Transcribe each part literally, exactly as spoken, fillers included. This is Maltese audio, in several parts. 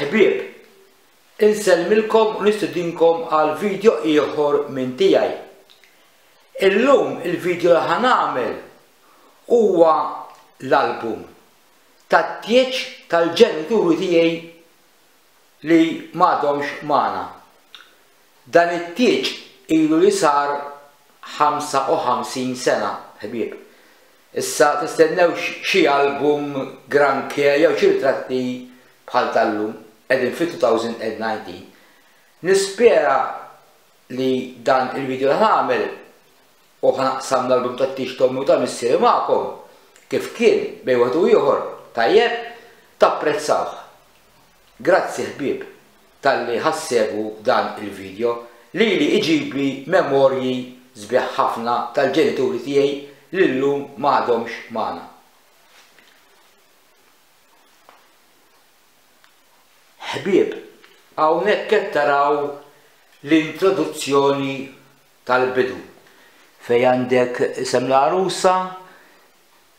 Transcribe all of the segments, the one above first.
Ħbieb, insellmilkom u nistedinkom għal video ieħor minn tiegħi. Illum il-video li ħa nagħmel huwa l-album tat-tieġ tal-ġenituri tiegħi li m'għadhomx magħna. Dan it-tieġ ilu li sar ħamsa u ħamsin sena, ħbieb. Issa tistennewx xi album granché jew xi ritratti bħal tal-lum, qegħdin fi two thousand nineteen. Nispera li dan il-video li nagħmel u ħa naqsam l-album tat-tieġ t'ommi u ta' missieri magħkom kif kien bejn wieħed u ieħor, tajjeb, tapprezzawh. Grazzi, ħbieb, talli ħa ssegwu dan il-video li li iġibli memorji sbieħ ħafna tal-ġenituri tiegħi li llum m'għadhomx magħna. Ħbieb, hawnhekk qed taraw l-introduzzjoni tal-bidu fejn għandek isem l-għarusa,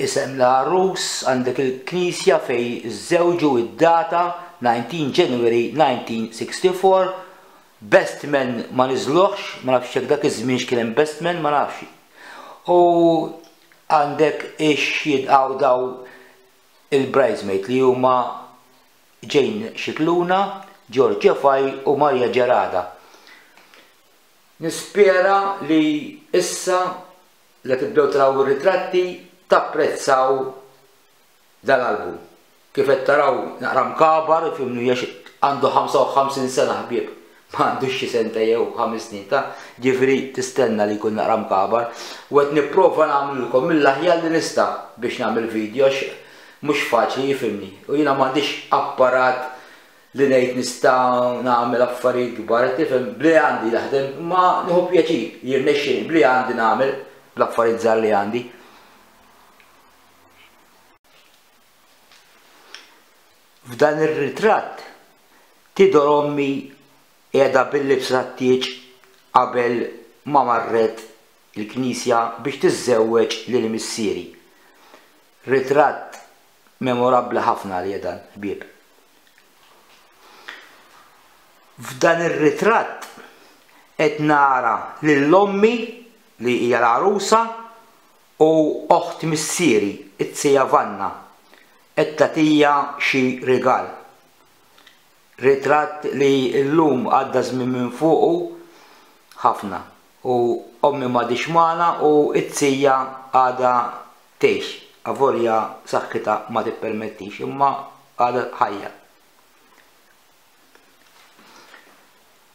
isem l-għarus, għandek il-knisja fejn iżżewġu, id-data nineteen January nineteen sixty-four, best man ma niżluħx, ma nafx jekk dak iż-żmien x'kien hemm best man, ma nafx. U għandek ix-xhieda daw il-bridesmaid li huma Jane Scicluna, George Cefai u Maria Gerada. Nispera li issa li tibdew taraw ir-ritratti tapprezzaw dal-album. Kif qed taraw naqra mkabar, ifhimni, għax għandu ħamsa u ħamsin sena, ħbieb, ma għandux xi senta jew ħames snin ta', ġifieri tistenna li jkun naqra mkabar. U qed nipprova nagħmlilkom mill-aħjar li nista' biex nagħmel video għax mhux faċli, jifhimni. U jiena m'għandix apparat li ngħid nista' nagħmel affarijiet kbar, tifhem, bli għandi naħdem, imma nieħu pjaċir jirnexxieli bli għandi nagħmel bl-affarijiet żgħar li għandi. F'dan ir-ritratt tidher ommi qiegħda bil-libsa tat-tieġ qabel ma marret il-knisja biex tiżżewweġ lil missieri. Ritratt memorabbli ħafna li dan, ħbieb. F'dan ir-ritratt qed nara lil ommi li hija l-għarusa u oħt missieri, it-sija Vanna, qed tagħtija xi rigal. Ritratt li llum għadda żmien minn fuqu ħafna u ommi m'għadix magħna u it-sija għadha tgħix, avolja saħħitha ma tippermettix, imma għadha ħajja.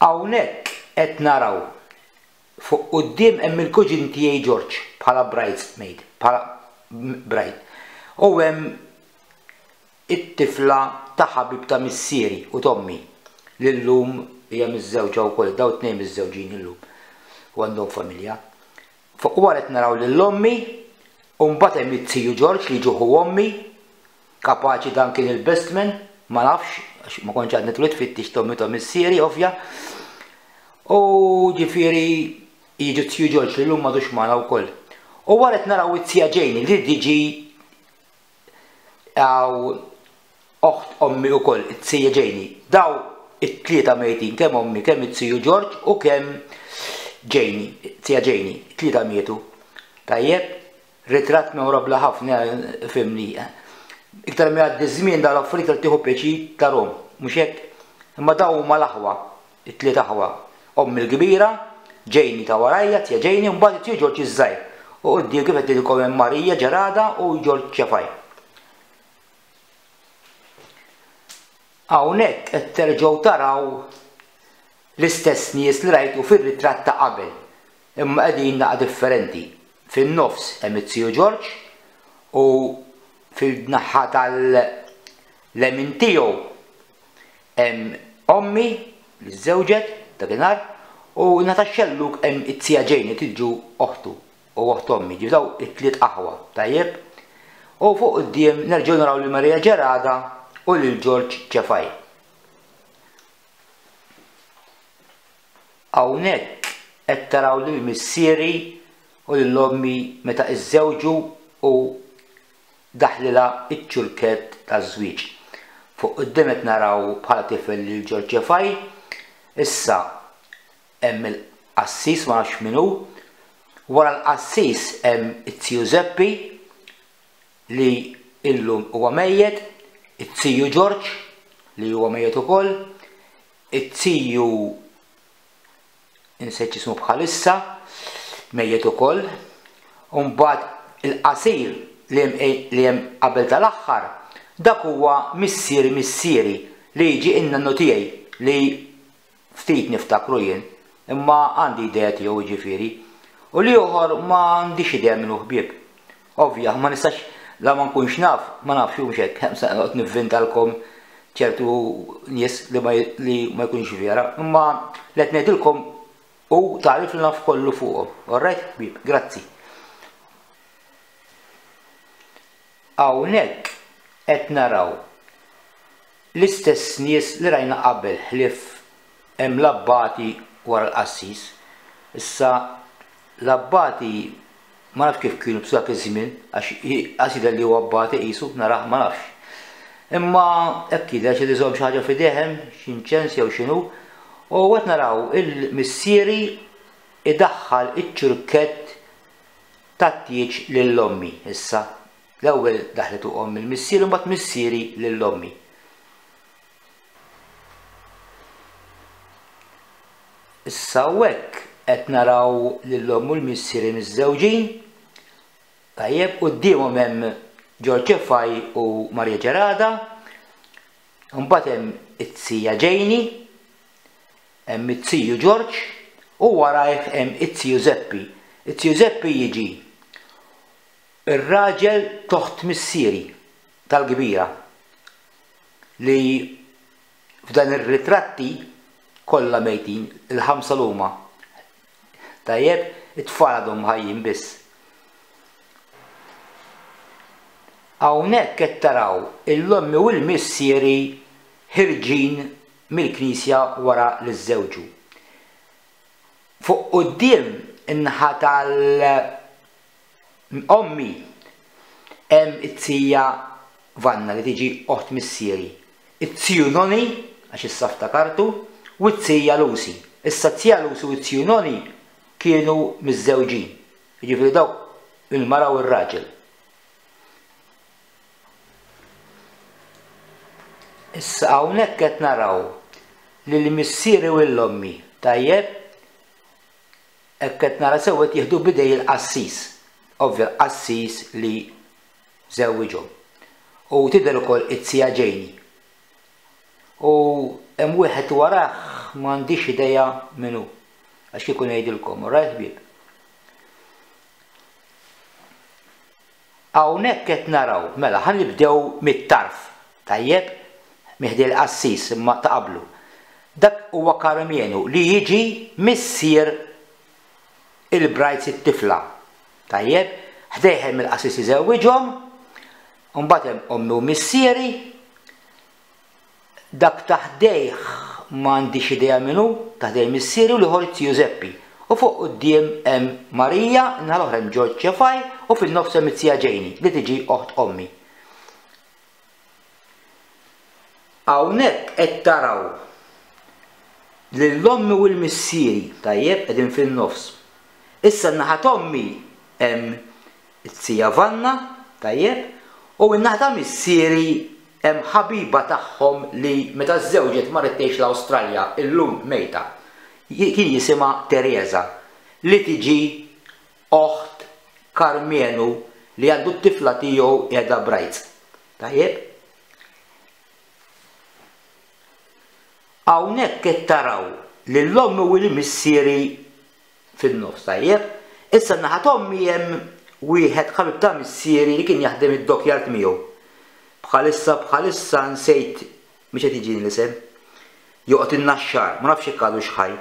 Hawnhekk qed naraw fuq quddiem hemm il-kuġin tiegħi George bħala bridesmaid, bħala bride. U hemm it-tifla ta' ħabib ta' missieri u t'ommi li llum hija miżżewġa wkoll, daw tnejn miżżewġin illum u għandhom familja. Fuq wara qed naraw lil ommi u mbagħad hemm it-tiju George li ġuħu ommi, kapaċi dan kien il-best man, ma nafx, għax ma kontx għadni twelid fit-tieġ t'ommi ta' missieri, ovvja. U ġifieri jiġu t-tiju George li llum m'għadux magħna wkoll. U wara qed naraw it-tija Jane li tiġi għaw oħt ommi wkoll, it-tija Jane. Daw it-tlieta mejtin, kemm ommi, kemm it-tiju George u kemm Jane, it-tija Jane, it-tlieta mietu. Tajjeb, ritratt memorabbli ħafna, fimni. Iktar ma jgħaddi żmien dawn l-affarijiet iktar tieħu pjaċir tarhom, mhux hekk? Imma daw huma l-aħwa, it-tliet aħwa. Ommi l-kbira, Jane ta' warajja, tija Jane, u mbagħad it-tiju George iż-żgħir. U quddiem kif qed ngħidilkom hemm Marija Gerada u George Cefai. Hawnhekk qed terġgħu taraw l-istess nies li rajtu fir-ritratt ta' qabel, imma qegħdin naqa' differenti. Fin-nofs hemm it-tiju George u fil-naħa tal-lemin tiegħu hemm ommi li żżewġet dakinhar u naħa tax-xellug hemm it-tija Jane li tiġu oħtu u oħt ommi, ġifieri daw it-tliet aħwa, tajjeb? U fuq quddiem nerġgħu naraw lil Maria Gerada u lil George Cefai. Hawnhekk qed taraw lil missieri u lil ommi meta iżżewġu u daħlilha iċ-ċurkett taż-żwieġ. Fuq quddiem qed naraw bħala tifel lil Ġorġ Cefai. Issa hemm il-qassis, ma nafx min hu. Wara l-qassis hemm it-tiju Zeppi li illum huwa mejjet, it-tiju Ġorġ li huwa mejjet ukoll, it-tiju insejt ismu bħalissa mejjet ukoll, u mbagħad il-qasir li hemm qabel tal-aħħar, dak huwa missieri missieri li jiġi in-nannu tiegħi li ftit niftakru jien, imma għandi idea tiegħu jiġifieri. U l-ieħor ma għandix idea minnu ħbieb. Ovvja, ma nistax, la ma nkunx naf, ma nafx mhux hekk, hemm se noqgħod nivvintalkom ċertu nies li ma li ma jkunx vera, imma li qed ngħidilkom hu tagħrif li naf kollu fuqhom. All right, ħbieb, grazzi. Hawnhekk qed naraw l-istess nies li rajna qabel, ħlief hemm l-abbati wara l-qassis. Issa l-abbati ma nafx kif kienu b'dak iż-żmien, għax għax jidher li huwa abbati qisu narah ma nafx. Imma hekk jidher xi iżomm xi ħaġa f'idejh hemm, xi inċens jew x'inhu, u qed naraw il-missieri idaħħal iċ-ċurkett tat-tieġ lil ommi. Issa l-ewwel daħlet omm il-missieri u mbagħad missieri lil ommi. Issa hawnhekk qed naraw lil omm u l-missieri miżżewġin. Tajjeb, quddiemhom hemm Ġorġ Cefai u Maria Gerada. Mbagħad hemm it-tija Ġejni, hemm it-tiju Ġorġ u warajh hemm it-tiju Zeppi. It-tiju Zeppi jiġi ir-raġel toħt missieri tal-kbira li f'dan ir-ritratti kollha mejtin, il-ħamsa l-huma. Tajjeb, it-tfal għadhom ħajjin biss. Hawnhekk qed taraw il-ommi u l-missieri ħirġin mill-knisja wara li żżewġu. Fuq quddiem in-naħa tal-ommi hemm it-tija Vanna li tiġi oħt missieri, it-tiju Noni għax issa ftakartu, u t-tija Lucy. Issa t-tija Lucy u t-tiju Noni kienu miżżewġin, jiġifieri dawk il-mara u r-raġel. Issa hawnhekk qed naraw lil missieri u l-ommi, tajjeb, hekk qed nara sew qed jieħdu b'idej il-qassis, ovvja l-qassis li żewwiġhom. U tidher ukoll it-tija Ġejni. U hemm wieħed warah m'għandix idea min hu, għax kieku ngħidilkom, all right ħbieb. Hawnhekk qed naraw, mela ħa nibdew mit-tarf, tajjeb, miħdi l-qassis imma ta' qablu. Dak huwa Karmenu li jiġi missier il-brajz it-tifla. Tajjeb, ħdejh hemm il-qassis iżewwiġhom, u mbagħad hemm ommi u missieri. Dak ta' ħdejh m'għandix idea min hu, ta' ħdejh missieri u l-ieħor it-tiju Zeppi. U fuq quddiem hemm Marija, in-naħa l-oħra hemm Ġorġ Cefai u fin-nofs hemm it-tija Ġejni li tiġi oħt ommi. Hawnhekk qed taraw lil ommi u l-missieri, tajjeb, qegħdin fin-nofs. Issa n-naħa t'ommi hemm it-tija Vanna, tajjeb, u n-naħa ta' missieri hemm ħabiba tagħhom li meta żżewġet marret tgħix l-Awstralja, illum mejta. Kien jisimha Teresa, li tiġi oħt Karmenu li għandu t-tifla tiegħu qiegħda Brajz. Tajjeb? Hawnhekk qed taraw lil ommi u l-missieri fin-nofs, tajjeb? Issa n-naħa t'ommi hemm wieħed ħabib ta' missieri li kien jaħdem id-dockyard miegħu. Bħalissa bħalissa nsejt mhux qed jiġini l-isem. Joqgħod in-Naxxar, ma nafx jekk għadux ħaj.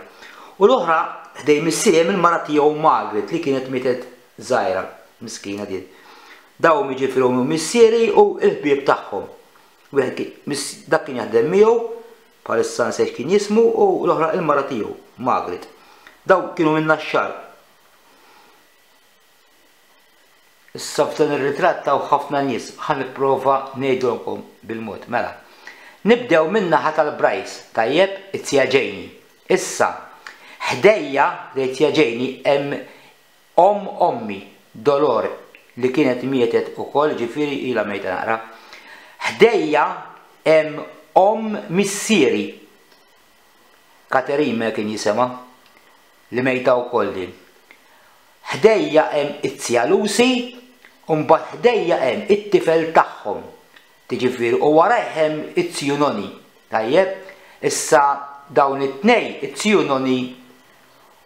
U l-oħra ħdej missieri hemm il-mara tiegħu Margaret li kienet mietet żgħira, miskina din. Dawn jiġifieri ommi u missieri u l-ħbieb tagħhom. Wieħed kien, miss-, dak kien jaħdem miegħu, bħalissa nsejt kien jismu, u l-oħra il-mara tiegħu, Margaret. Dawn kienu minn Naxxar. Issa f'dan ir-ritratt hawn ħafna nies, ħa nipprova ngħidulkom bil-mod. Mela, Nibdew min-naħa tal-Bryce, tajjeb, it-tija Janie. Issa, ħdejja li t-tija Janie hemm omm ommi, Dolor, li kienet mietet ukoll, ġifieri ilha mejta naqra. Ħdejja hemm omm missieri, Katerina kien jisimha, li mejta wkoll din. Ħdejja hemm it-tija Lucy, u mbagħad ħdejja hemm it-tifel tagħhom. Tiġifieri u warajh hemm it-tiju Noni. Tajjeb, issa dawn it-tnej, it-tiju Noni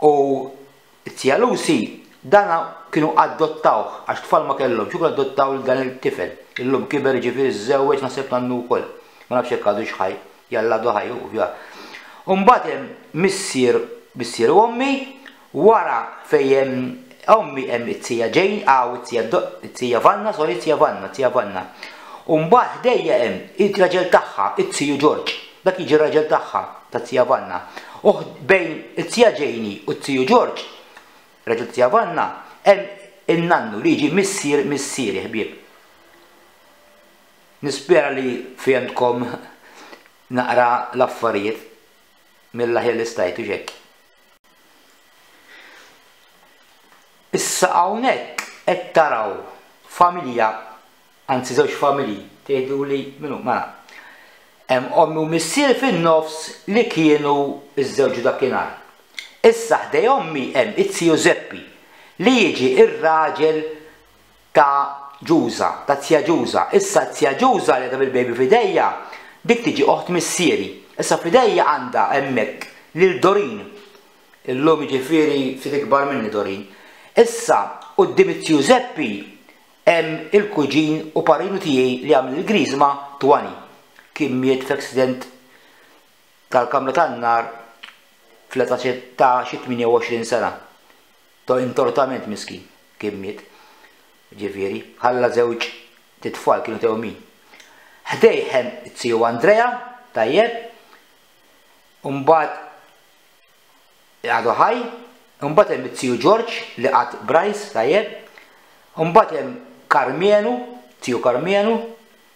u it-tija Lucy, dana kienu adottawh għax tfal ma kellhomx, kienu adottaw lil dan il-tifel. Illum kiber ġifieri żżewweġ naħseb nannu wkoll. Ma nafx jekk għadux ħaj, jalla għadu ħaj, ovvja. U mbagħad hemm missier, missier u ommi, wara fejn hemm ommi hemm it-tija Jane, aw it-tija Do-, it-tija Vanna, sorry, it-tija Vanna, it-tija Vanna. U mbagħad ħdejja hemm it-raġel tagħha, it-tiju George. Dak jiġi r-raġel tagħha, tat-tija Vanna. U bejn it-tija Janie u t-tiju George, raġel tija Vanna, hemm in-nannu li jiġi missier missieri ħbieb. Nispera li fehmtkom naqra l-affarijiet mill-aħjar li stajtu xek. Issa hawnhekk qed taraw familja, anzi żewġ familji, tgħidu li minnu mela. Hemm ommi u missier fin-nofs li kienu iż-żewġ dakinhar. Issa ħdej ommi hemm it-tiju Zeppi li jiġi ir-raġel ta' Ġuża, ta' tija Ġuża. Issa tija Ġuża li għadha bil-baby f'idejja, dik tiġi oħt missieri. Issa f'idejja għandha hemmhekk lil Dorin. Illum jiġifieri ftit ikbar minni Dorin. Issa quddiem it-tiju Zeppi hemm il-kuġin u parinu tiegħi li għamel il-griżma Twani. Kien miet f'accident tal-kamra tan-nar fl-età ta' xi tmienja u għoxrin sena. To intortament miskin kien miet. Ġifieri, ħalla żewġ titfal kienu tewmin. Ħdejh hemm it-tiju Andrea, tajjeb, u mbagħad għadu ħaj, u mbagħad hemm it-tiju George li qatt Bryce, tajjeb, u mbagħad hemm Karmienu, tiju Karmienu,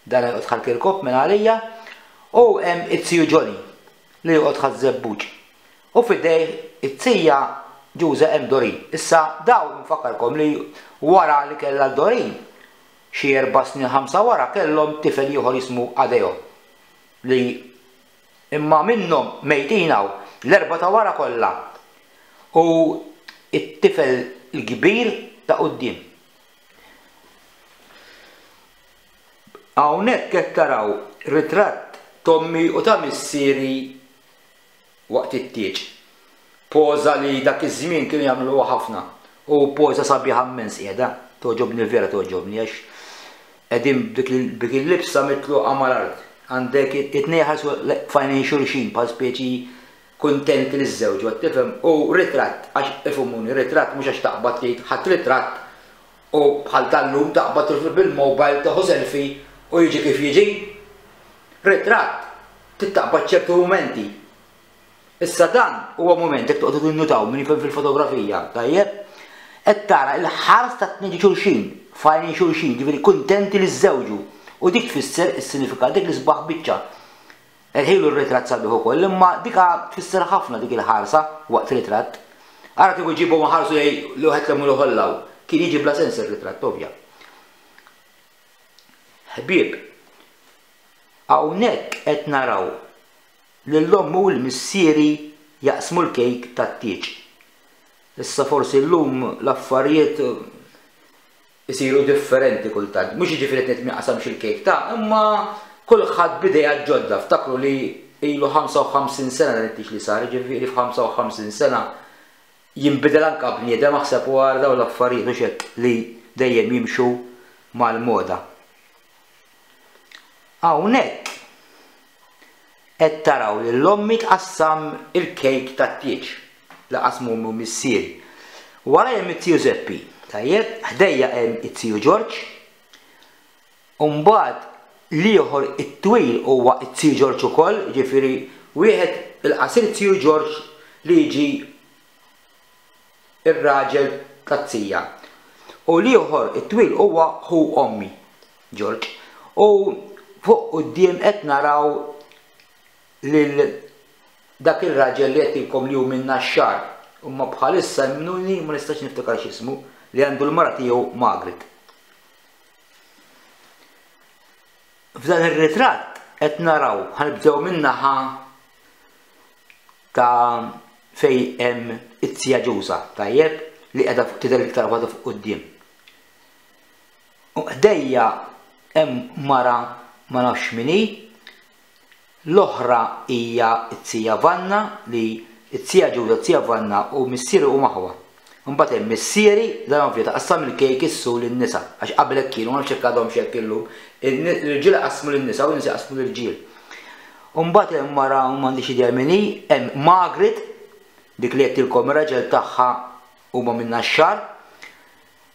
dan joqgħod Ħal Kirkop minn għalija, u hemm it-tiju Johnny li joqgħod Ħaż-Żebbuġ. U f'idejh it-tija Ġuża hemm Dorin. Issa daw nfakkarkom li wara li kellha Dorin, xi erba' snin ħamsa wara kellhom tifel ieħor jismu Adeo li imma minnhom mejtin hawn l-erba' ta' wara kollha u it-tifel il-kbir ta' quddiem. Hawnhekk qed taraw ritratt t'ommi u ta' missieri waqt it-tieġ. Poża li dak iż-żmien kienu jagħmluha ħafna u poża sabiħa immens qiegħda, toġobni vera toġobni għax qegħdin b'dik il-libsa mitluqa mal-art. Għandek it-tnejn ħarsu f'għajnejn xulxin bħal speċi kuntenti li żżewġu, qed tifhem? U ritratt, għax ifhmuni, ritratt mhux għax taqbad tgħid ħadd ritratt u bħal tal-lum taqbad tirfed bil-mobile tieħu selfie u jiġi kif jiġi. Ritratt tittaqbad ċertu mumenti. Issa dan huwa mument jekk toqgħodu tinnutaw min jifhem fil-fotografija, tajjeb? Qed tara l-ħars ta' tnejn xulxin, f'għajnejn xulxin, ġifieri kuntenti li żżewġu. U dik tfisser is-sinifikat, dik l-isbaħ biċċa. Ħilu r-ritratt sabiħ ukoll, imma dika tfisser ħafna dik il-ħarsa waqt ritratt. Ara kieku ġibu ma ħarsu lejn li wieħed lemmu l-ħollaw. Kien jiġi bla sens ir-ritratt, ovvja. Ħbieb, hawnhekk qed naraw lil ommu u l-missieri jaqsmu l-kejk tat-tieġ. Issa forsi llum l-affarijiet isiru differenti kultant. Mhux jiġifieri qed ngħid ma jaqsamx il-kejk ta', imma kulħadd bidejha ġodda. Ftakru li ilu ħamsa u ħamsin sena dan it-tieġ li sar, jiġifieri f'ħamsa u ħamsin sena jinbidel anke bniedem aħseb wara dawn l-affarijiet u x'hekk li dejjem jimxu mal-moda. Hawnhekk qed taraw lil ommi tqassam il-kejk tat-tieġ li qasmu ommi u missieri. Wara hemm it-tiju Zeppi, tajjeb, ħdejja hemm it-tiju George, u mbagħad l-ieħor it-twil huwa it-tiju George ukoll, jiġifieri wieħed il-qasir tiju George li jiġi ir-raġel tat-tija. U l-ieħor it-twil huwa ħu ommi George. U fuq quddiem qed naraw lil dak ir-raġel li għedtilkom li hu minn Naxxar, imma bħalissa emmnuni ma nistax niftakar x'ismu, li għandu l-mara tiegħu Margaret. F'dan ir-ritratt qed naraw, ħanibdew min-naħa ta' fejn hemm it-tija Ġuża, tajjeb, li qiegħda tidher iktar waħda fuq quddiem. U ħdejja hemm mara ma nafx min hi, l-oħra hija t-tija Vanna li t-tija Ġuża, t-tija Vanna u missieri huma aħwa. Imbagħad hemm missieri, dan ovvja taqassam il-kejk issu lin-nisa, għax qabel hekk kienu, ma nafx hekk għadhomx hekk illum, l-irġiel iqassmu lin-nisa u n-nisa jqassmu l-irġiel. Imbagħad hemm mara m'għandix idea min hi, hemm Margaret, dik li għedtilkom ir-raġel tagħha huma minn Naxxar.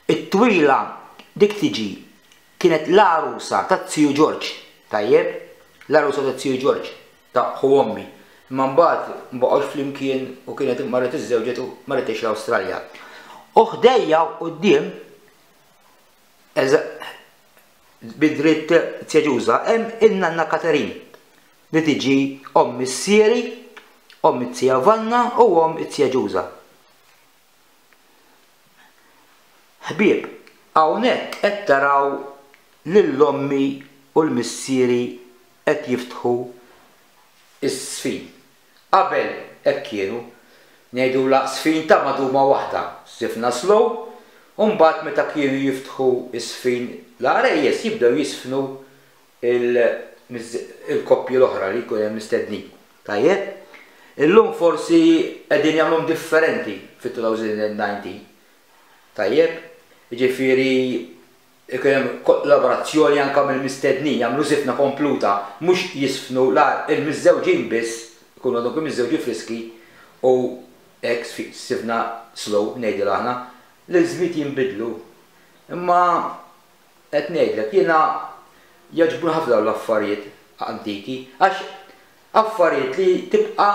It-twila dik tiġi kienet l-għarusa tat-tiju Ġorġ, tajjeb? L-għarusa tat-tiju Ġorġ, ta' ħu ommi. Imma mbagħad ma baqgħux flimkien u kienet marret iżżewġet u marret tgħix l-Awstralja. U ħdejja u quddiem bid-dritt tija Ġuża hemm in-nanna Katerin li tiġi omm missieri, omm it-tija Vanna u omm it-tija Ġuża. Ħbieb, hawnhekk qed taraw lil ommi u l-missieri qed jiftħu is-sfin. Qabel hekk kienu, ngħidulha sfin ta' maduma waħda, sifna slow, u mbagħad meta kienu jiftħu is-sfin l-għarejjes jibdew jisfnu il-koppji l-oħra li jkun hemm mistednin. Tajjeb? Illum forsi qegħdin jagħmluhom differenti fit-two thousand nineteen. Tajjeb? Jiġifieri ikun hemm kollaborazzjoni anke mill-mistednin, jagħmlu żifna kompluta, mhux jisfnu il-miżżewġin biss, ikunu għadhom kemm miżżewġin friski u hekk sifna slow ngħidilha aħna, li l-żmiet jinbidlu. Imma qed ngħidlek jiena jogħġbuni ħafna dawn l-affarijiet antiki, għax affarijiet li tibqa'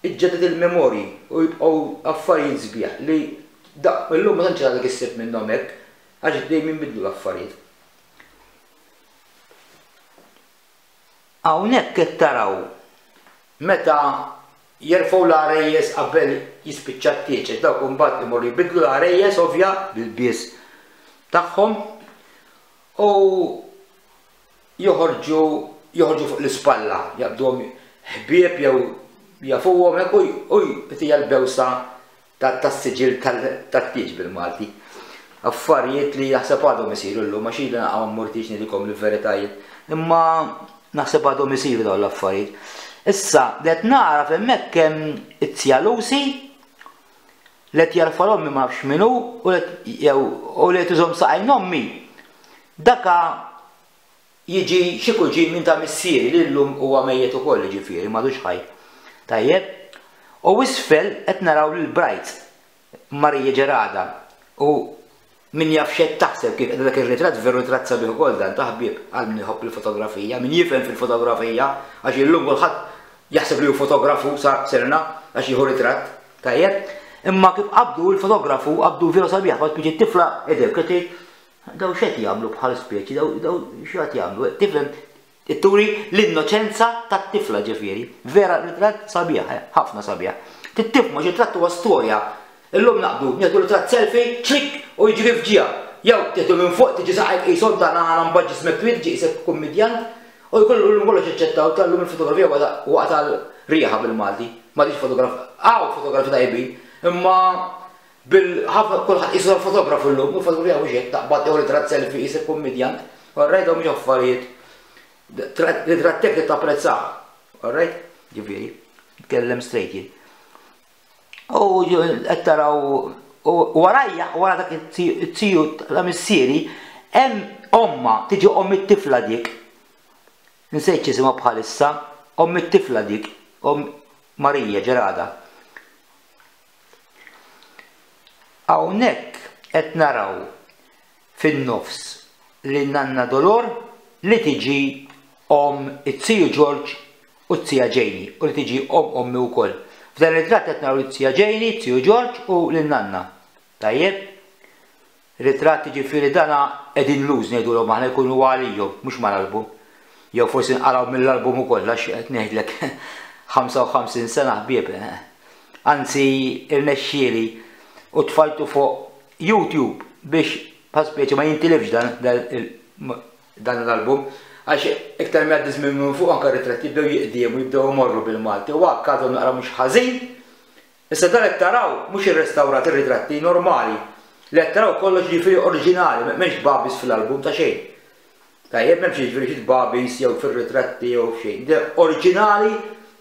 iġġedded il-memorji u jibqgħu affarijiet sbieħ li illum ma tantx għadek issib minnhom hekk, għax dejjem jinbidlu l-affarijiet. Hawnhekk qed taraw meta jerfgħu l-għarejjes qabel jispiċċa t-tieġ, għax dawk imbagħad imorru jbidlu l-għarejjes ovvja bil-bies tagħhom u joħorġu joħorġu fuq l-ispalla, jaqbduhom ħbieb jew jafuhom hekk u hija l-bewsa tas-siġil tat-tieġ bil-Malti. Affarijiet li naħseb għadhom isiru llum, għax ilha naqa' ma mmurtix ngħidilkom il-veritajiet, imma naħseb għadhom isiru dawn l-affarijiet. Issa li qed nara hemmhekk hemm it-tija Lucy li qed jarfa l-ommi ma nafx min hu u li qed iżomm saqajn ommi. Daka jiġi xi kuġin minn ta' missieri li llum huwa mejjet ukoll, jiġifieri m'għadux ħaj. Tajjeb? U isfel qed naraw lil Bright Marija Ġerada u min jaf x'qed taħseb kif dak ir-ritratt, veru ritratt sabiħ ukoll dan ta' ħbieb għal min iħobb il-fotografija, min jifhem fil-fotografija, għax illum kulħadd jaħseb li hu fotografu sa serna għax jieħu ritratt, tajjeb? Imma kif qabdu l-fotografu qabdu veru sabiħ, bħal speċi tifla edek, qed daw x'qed jagħmlu bħal speċi, daw daw x'qed jagħmlu, tifhem turi l-innoċenza tat-tifla ġifieri. Vera ritratt sabiħ, ħafna sabiħ. Tittifmu xi ritratt huwa storja. Illum naqbdu, nieħdu ritratt selfie, ċlik u jiġri f'ġija. Jew tieħdu minn fuq tiġi saqajk qishom ta' nagħna mbagħad ġismek twil, tiġi qisek kummedjant, u jkollu llum kollox jaċċettaw tal-lum il-fotografija waqa' tal-riħa bil-Malti. M'għadix fotograf, hawn fotografi tajbin, imma bil-ħafna kulħadd qisu fotografu llum, u l-fotografija mhux hekk taqbad jew ritratt selfie qisek kummedjant. All right, dawn mhux affarijiet. Ritratt hekk tapprezzah. All right? Ġifieri, nitkellem straight jien. U qed taraw u warajja, wara dak it-tiju ta' missieri, hemm omma, tiġi omm it-tifla dik. Nsejt x'isimha bħalissa, omm it-tifla dik, omm Marija Ġerada. Hawnhekk qed naraw fin-nofs lil Nanna Dolor li tiġi omm it-tiju Ġorġ u t-tija Ġejni, u li tiġi omm ommi wkoll. F'dan ir-ritratt qed naraw it-tija Ġejni, it-tiju Ġorġ u lil Nanna. Tajjeb? Ritratt jiġifieri dana qegħdin luz ngħidulhom aħna jkunu għalihom, mhux mal-album. Jew forsi nqaraw mill-album ukoll għax qed ngħidlek ħamsa u ħamsin sena ħbieb. Anzi irnexxieli u tfajtu fuq YouTube biex bħal speċi ma jintilifx dan, dan, dan l-album, għax iktar ma jgħaddi żmien minn fuq anke ritratti jibdew jiqdiemu, jibdew imorru bil-Malti u hekk għadhom naqra mhux ħażin. Issa dan qed taraw mhux irrestawrat ir-ritratti normali, li qed taraw kollox ġifieri oriġinali, m'hemmx babis fil-album ta' xejn. Tajjeb, m'hemmx jiġifieri xi tbabis jew fir-ritratti jew f'xejn. Oriġinali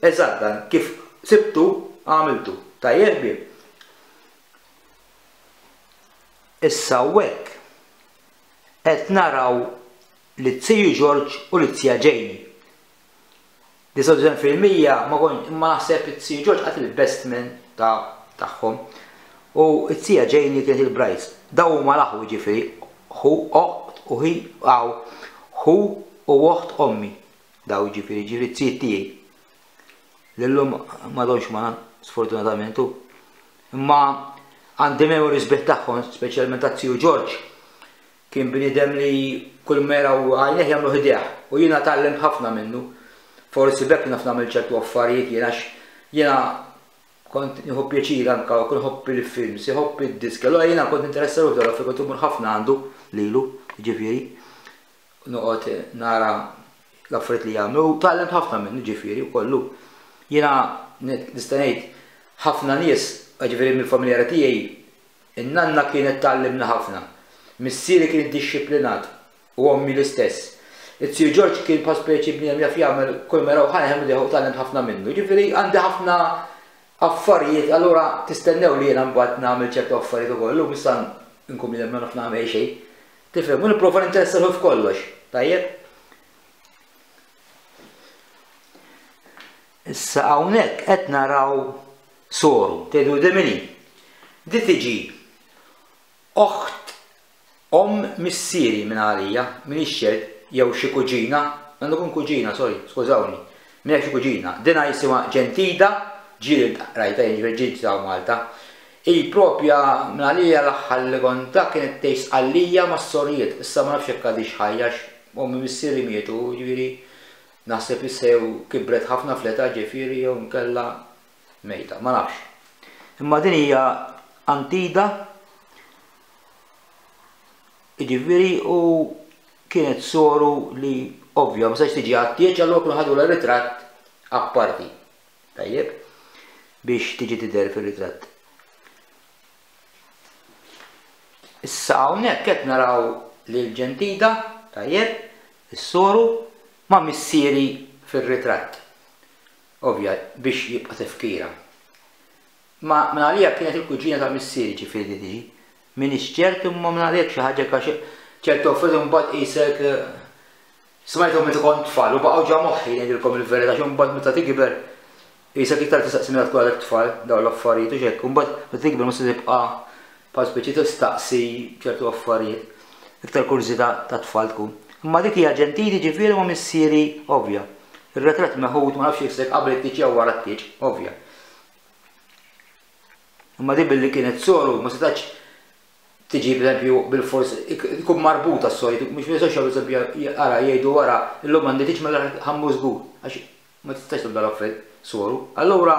eżatt dan, kif sibtu għamiltu. Tajjeb ħbieb. Issa hawnhekk qed naraw lit-Ziju Ġorġ u lit-Zija Ġejni. disgħa u disgħin fil-mija ma kont imma naħseb it-Ziju Ġorġ qatt il-best man ta' tagħhom. U t-Zija Ġejni kienet il-brides. Daw huma l-aħwa jiġifieri, ħu oħt u hi għaw, ħu u oħt ommi. Daw jiġifieri, jiġifieri t-zijiet tiegħi. Li llum m'għadhomx magħna sfortunatament hu. Imma għandi memories sbieħ tagħhom, speċjalment taz-Ziju Ġorġ. Kien bniedem li kull ma jaraw għajnejh jagħmlu ħdejh u jiena tgħallimt ħafna minnu. Forsi b'hekk naf nagħmel ċertu affarijiet jien għax jiena kont nieħu pjaċir anke u kont nħobb il-films, iħobb id-diski. Allura jiena kont ninteressa ruħi dwar kont immur ħafna għandu lilu, jiġifieri, noqgħod nara l-affarijiet li jagħmlu u tgħallimt ħafna minnu ġifieri u kollu. Jiena nista' ngħid ħafna nies, ġifieri mill-familjari tiegħi, in-nanna kienet tgħallimna ħafna. Missieri kien iddixxiplinat u ommi l-istess. It-Sir Ġorġ kien bħal speċi bniedem jaf jagħmel kull ma jaraw ħa jagħmel u tgħallimt ħafna minnu. Ġifieri għandi ħafna affarijiet, allura tistennew li jiena mbagħad nagħmel ċertu affarijiet ukoll. Illum issa nkun bniedem ma naf nagħmel xejn. Tifhem, u nipprova ninteressa ruħi f'kollox. Tajjeb? Issa hawnhekk qed naraw soru, tgħidu di min hi? Di tiġi oħt omm missieri minn għalija, m'iniex ċert, jew xi kuġina, għandu jkun kuġina, sorry, skużawni, minn xi kuġina. Dina jisimha Ġentida, ġieli rajta, jiġifieri ġieli ġiet hawn Malta. Hi propja minn għalija l-aħħar li kont ta' kienet tgħix Sqallija mas-sorijiet, issa ma nafx jekk għadhiex ħajja għax ommi missieri mietu, jiġifieri naħseb issa jew kibret ħafna fl-età ġifieri jew inkella mejta, ma nafx. Imma din hija Antida, jiġifieri u kienet soru li ovvja ma setax tiġi għat-tieġ, allura kienu ħadulha ritratt apparti. Tajjeb, biex tiġi tidher fir-ritratt. Issa hawnhekk qed naraw lil Ġentida, tajjeb, is-soru ma' missieri fir-ritratt. Ovvja biex jibqa' tifkira. Ma minn għalija kienet il-kuġina ta' missieri ġifieri tiġi. M'iniex ċert imma minn għalija xi ħaġa għax ċertu affarijiet imbagħad qisek smajthom meta kont tfal u baqgħu ġa moħħi ngħidilkom il-verità għax imbagħad meta tikber qisek iktar tistaqsi meta tkun għadek tfal dawn l-affarijiet u x'hekk, imbagħad meta tikber mhux se tibqa' bħal speċi tistaqsi ċertu affarijiet, iktar kurżità ta' tfal tkun. Imma dik hija Ġentili ġifieri ma' missieri ovvja. Ir-ritratt meħud ma nafx jekk qabel it-tieġ jew wara t-tieġ, ovvja. Imma di billi kienet soru ma setax tiġi pereżempju bil-fors ikun marbuta s-sori, mhux ma jistgħux pereżempju ara jgħidu wara illum għandi tieġ mela ħammu żgur għax ma tistax tibda l-affarijiet soru. Allura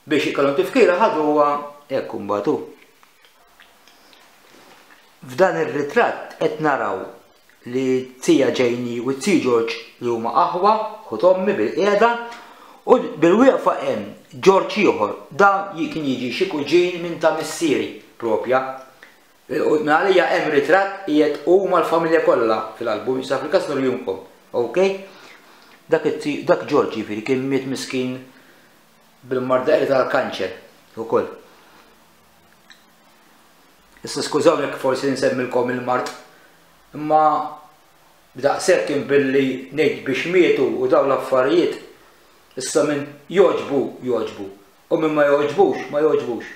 biex ikollhom tifkira ħaduha hekk imbagħad hu. F'dan ir-ritratt qed naraw li t-tija Ġejni u t-tiju Ġorġ li huma aħwa, ħut ommi bil-qiegħda, u bil-wieqfa hemm Ġorġ ieħor, dan kien jiġi xi kuġin minn ta' missieri propja. Minn għalija hemm ritratt qiegħed hu mal-familja kollha fil-album, issa fil-każ nurihomkom. Ok? Dak dak Ġorġ jiġifieri kien miet miskin bil-marda tal-kanċer ukoll. Issa skużawni jekk forsi nsemmilkom il-mard, imma b'daqshekk kien billi ngħid biex mietu u dawn l-affarijiet, issa min jogħġbu jogħġbu u min ma jogħġbux ma jogħġbux.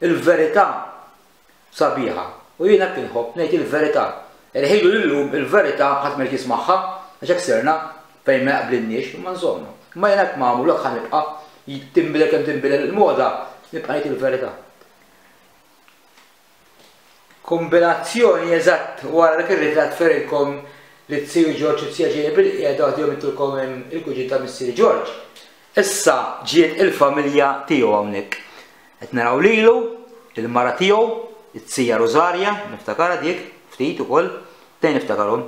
Il-verità sabiħa u jiena hekk inħobb ngħid il-verità. Irħilu lillum il-verità ħadd ma jrid jismagħha għax hekk sirna fejn ma jaqblinniex, imma insomma. Imma jiena hekk magħmul hekk ħa nibqa', tinbidel kemm tinbidel il-moda, nibqa' ngħid il-verità. Kombinazzjoni eżatt wara dak ir-ritratt ferilkom li t-siju Ġorġ u t-sija Ġejni bil-qiegħda għadhom itulkom il-kuġin ta' missieri Ġorġ. Issa ġiet il-familja tiegħu hawnhekk. Qed naraw lilu, il-mara tiegħu, it-sija Rosaria, niftakarha dik, ftit ukoll, tnejn niftakarhom.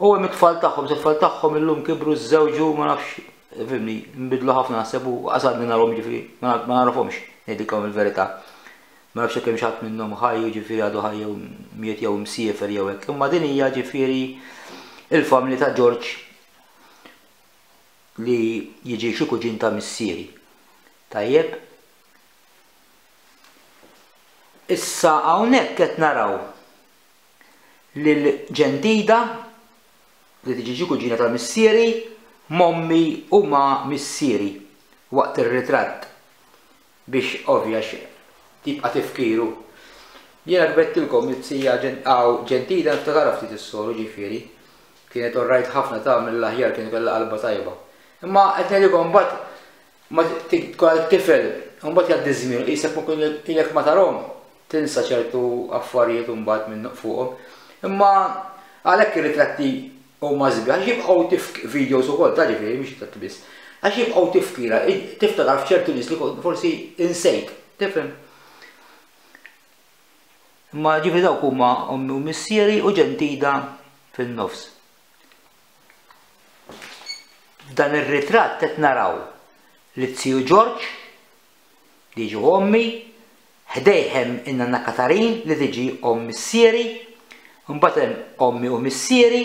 U hemm it-tfal tagħhom, it-tfal tagħhom illum kibru żewġu ma nafx, fimni, nbidlu ħafna naħseb u qasadni narhom ġifieri, ma nagħrafhomx, ngħidilkom il-verità. Ma nafx kemm xi ħadd minnhom ħaj, ġifieri għadu ħaj jew miet jew msiefer jew hekk. Imma din hija ġifieri il-familja ta' Ġorġ li jiġi xi kuġin ta' missieri. Tajjeb. Issa hawnhekk qed naraw lil Ġentida li tiġi xi kuġina ta' missieri, mommi u ma' missieri waqt ir-ritratt biex ovvjax tibqa' tifkiru. Jiena kbettilkom it-sija Ġentida niftakarha ftit is-soru ġifieri. Kienet orrajt ħafna tagħmel l-aħjar, kien kellha qalba tajba. Imma qed ngħidilkom mbagħad ma tkun għadek tifel, mbagħad jgħaddi żmien, qisek ma kun ilek ma tarhom, tinsa ċertu affarijiet mbagħad minn fuqhom. Imma għalhekk ir-ritratti huma sbieħ, għax jibqgħu tifk videos ukoll ta' ġifieri mhux ritratti biss. Għax jibqgħu tifkira, tiftakar f'ċertu nies li forsi insejt, tifhem? Imma ġifieri dawk huma ommi u missieri u Ġentida fin-nofs. F'dan ir-ritratt qed naraw li t-siju Ġorġ li jiġi ommi, ħdejh hemm in-nanna Katarin li tiġi omm missieri, mbagħad hemm ommi u missieri,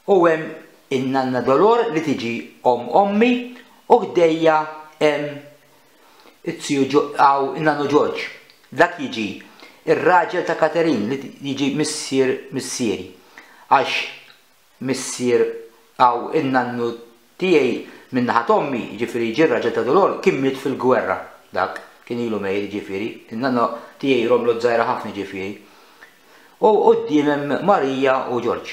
u hemm in-nanna Dolor li tiġi omm ommi, u ħdejja hemm it-siju għaw in-nannu Ġorġ. Dak jiġi ir-raġel ta' Katarin li jiġi missier missieri, għax missier għaw in-nannu tiegħi min-naħa t'ommi, jiġifieri jiġi r-raġel ta' Dolor, kien miet fil-gwerra, dak kien ilu mejjet jiġifieri, in-nanna tiegħi romlu żgħira ħafna jiġifieri. U quddiem hemm Marija u Ġorġ.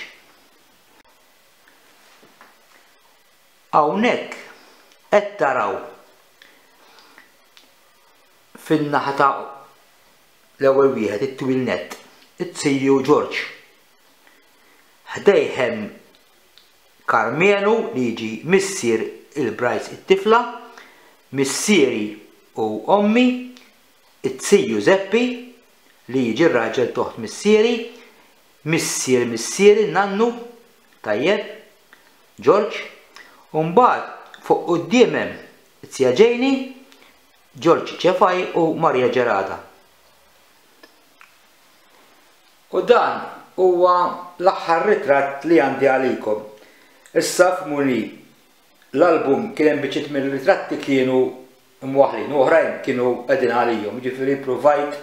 Hawnhekk qed taraw fin-naħa ta' l-ewwel wieħed it-twil nett, it-siju Ġorġ. Ħdejh hemm Karmenu li jiġi missier il-Bryce it-tifla, missieri u ommi, it-siju Zeppi li jiġi r-raġel toħt missieri, missier missieri nannu, tajjeb, Ġorġ, u mbagħad fuq quddiem hemm it-sija Ġejni, Ġorġ Ċefaj u Marija Ġerada. U dan huwa l-aħħar ritratt li għandi għalikom. Issa f'muni l-album kien hemm biċċiet mill-ritratti kienu mwaħlin u oħrajn kienu qegħdin għalihom, jiġifieri provajt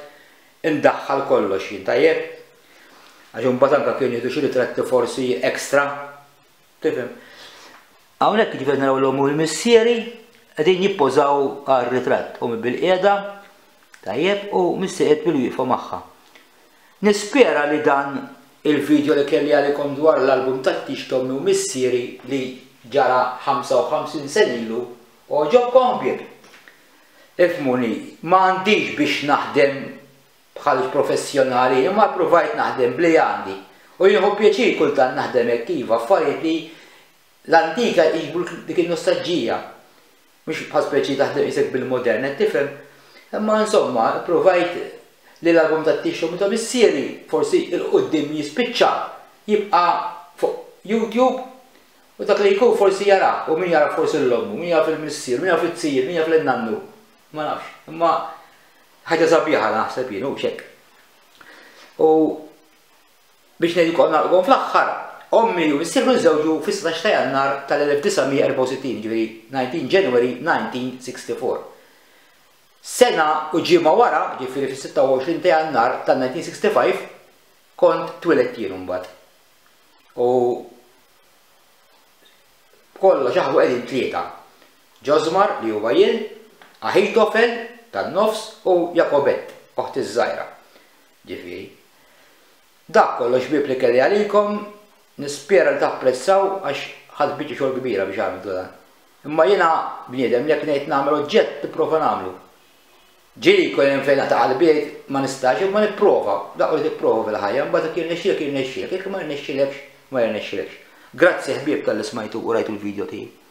indaħħal kollox jien, tajjeb? Għax imbagħad anke kienu jieħdu xi ritratti forsi ekstra, tifhem? Hawnhekk jiġifieri naraw l-omm u l-missieri qegħdin jippożaw għar-ritratt, ommi bil-qiegħda, tajjeb, u missieri qed bil-wieqfa magħha. Nispera li dan il-video li kelli għalikom dwar l-album tat-tix t'ommi u missieri li ġara ħamsa u ħamsin sena ilu għoġobkom ħbieb. Ifhmuni, ma għandix biex naħdem bħal professjonali, imma provajt naħdem bli għandi. U jieħu pjaċir kultant naħdem hekk iva, affarijiet li l-antika jġibu dik in-nostalġija. Mhux bħal speċi taħdem isek bil-modern, qed tifhem? Imma insomma, provajt li l-album tat-tix t'ommi ta' missieri forsi il-qudiem jispiċċa jibqa' fuq YouTube u dak li jkun forsi jara, u min jara forsi l-ommu, min jaf il-missier, min jaf it-tijir, min jaf l-nannu, ma nafx, imma ħaġa sabiħa naħseb jien, u xek. U biex ngħidilkom nagħlqkom fl-aħħar, ommi u missier kienu żewġu fis-satax ta' Jannar tal-elf disa' mija erbgħa u sittin, ġifieri nineteen January nineteen sixty-four. Sena u ġimgħa wara, ġifieri fis-sitta u għoxrin ta' Jannar tal-nineteen sixty-five, kont twiledt jien imbagħad. U b'kollox aħwa qegħdin tlieta. Ġosmar li huwa jien, Ahitofel tan-nofs u Jakobett, oħti ż-żgħira. Ġifieri. Dak kollox ħbieb li kelli għalikom, nispera li tapprezzaw għax ħadt biċċa xogħol kbira biex għamiltu dan. Imma jiena bniedem li jekk ngħid nagħmel oġġett nipprova nagħmlu. Ġieli jkun hemm fejn naqta' qalbi jgħid ma nistax, imma nipprova, dak li tipprova fil-ħajja, mbagħad jekk jirnexxielek jirnexxielek, jekk ma jirnexxielekx Ma jirnexxilekx. Grazzi, ħbieb, talli smajtu u rajtu l-video tiegħi.